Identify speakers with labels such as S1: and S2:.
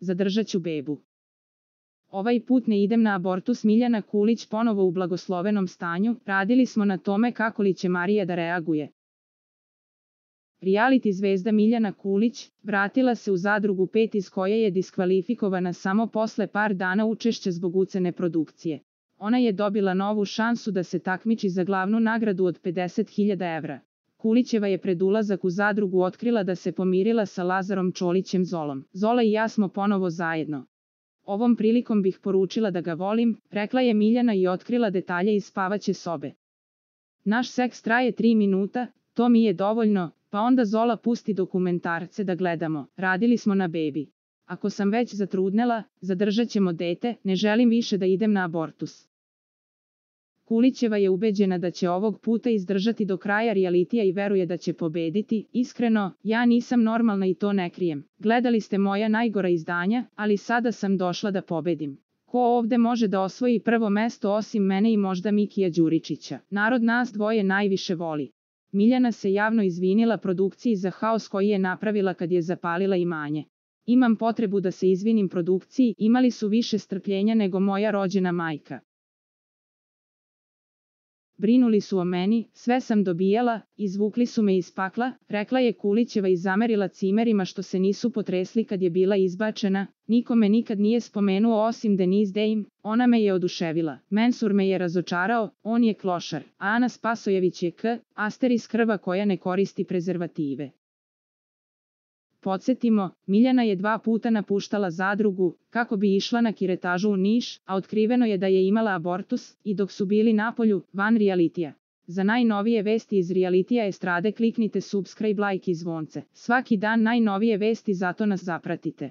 S1: zadržat ću bebu. Ovaj put ne idem na abortus. Miljana Kulić ponovo u blagoslovenom stanju, radili smo na tome kako li će Marija da reaguje. Reality zvezda Miljana Kulić vratila se u Zadrugu 5 iz koje je diskvalifikovana samo posle par dana učešća zbog ucene produkcije. Ona je dobila novu šansu da se takmiči za glavnu nagradu od 50.000 evra. Kulićeva je pred ulazak u Zadrugu otkrila da se pomirila sa Lazarom Čolićem Zolom. Zola i ja smo ponovo zajedno. Ovom prilikom bih poručila da ga volim, rekla je Miljana i otkrila detalje iz spavaće sobe. Naš seks traje 3 minuta, to mi je dovoljno, pa onda Zola pusti dokumentarce da gledamo, radili smo na bebi. Ako sam već zatrudnela, zadržat ćemo dete, ne želim više da idem na abortus. Kulićeva je ubeđena da će ovog puta izdržati do kraja realitija i veruje da će pobediti. Iskreno, ja nisam normalna i to ne krijem. Gledali ste moja najgora izdanja, ali sada sam došla da pobedim. Ko ovde može da osvoji prvo mesto osim mene i možda Mikija Đuričića? Narod nas dvoje najviše voli. Miljana se javno izvinila produkciji za haos koji je napravila kad je zapalila imanje. Imam potrebu da se izvinim produkciji, imali su više strpljenja nego moja rođena majka. Brinuli su o meni, sve sam dobijala, izvukli su me iz pakla, rekla je Kulićeva i zamerila cimerima što se nisu potresli kad je bila izbačena. Niko me nikad nije spomenuo osim Denise Dame, ona me je oduševila. Mensur me je razočarao, on je klošar, a Ana Spasojević je asteris krva koja ne koristi prezervative. Podsjetimo, Miljana je 2 puta napuštala Zadrugu, kako bi išla na kiretažu u Niš, a otkriveno je da je imala abortus, i dok su bili napolju, van realitija. Za najnovije vesti iz realitija estrade kliknite subscribe, like i zvonce. Svaki dan najnovije vesti, zato nas zapratite.